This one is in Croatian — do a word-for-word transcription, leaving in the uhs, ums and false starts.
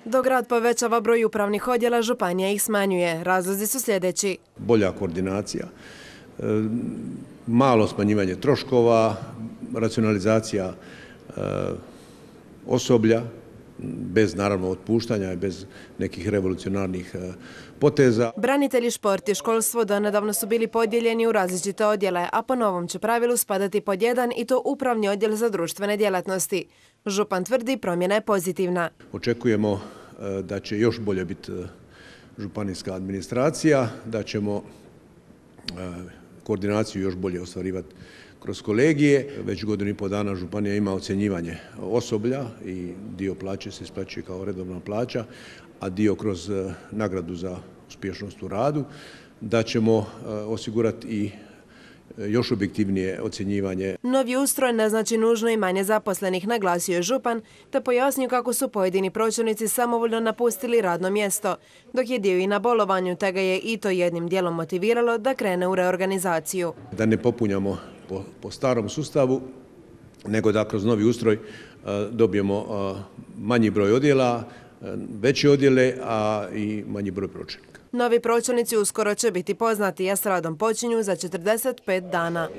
Dok grad povećava broj upravnih odjela, županija ih smanjuje. Razlozi su sljedeći. Bolja koordinacija, malo smanjivanje troškova, racionalizacija osoblja, bez naravno otpuštanja i bez nekih revolucionarnih poteza. Branitelji, šport i školstvo donedavno su bili podijeljeni u različite odjele, a po novom će pravilu spadati pod jedan i to upravni odjel za društvene djelatnosti. Župan tvrdi promjena je pozitivna. Očekujemo da će još bolje biti županijska administracija, da ćemo koordinaciju još bolje ostvarivati kroz kolegije. Već godinu i pol dana županija ima ocjenjivanje osoblja i dio plaće se isplaćuje kao redovna plaća, a dio kroz nagradu za uspješnost u radu. Da ćemo osigurati i još objektivnije ocjenjivanje. Novi ustroj ne znači nužno i manje zaposlenih, naglasio je župan, te pojasnio kako su pojedini pročelnici samovoljno napustili radno mjesto, dok je dio i na bolovanju, te ga je i to jednim dijelom motiviralo da krene u reorganizaciju. Da ne popunjamo po, po starom sustavu, nego da kroz novi ustroj dobijemo manji broj odjela, veće odjele, a i manji broj pročelnika. Novi pročelnici uskoro će biti poznati, a s radom počinju za četrdeset pet dana.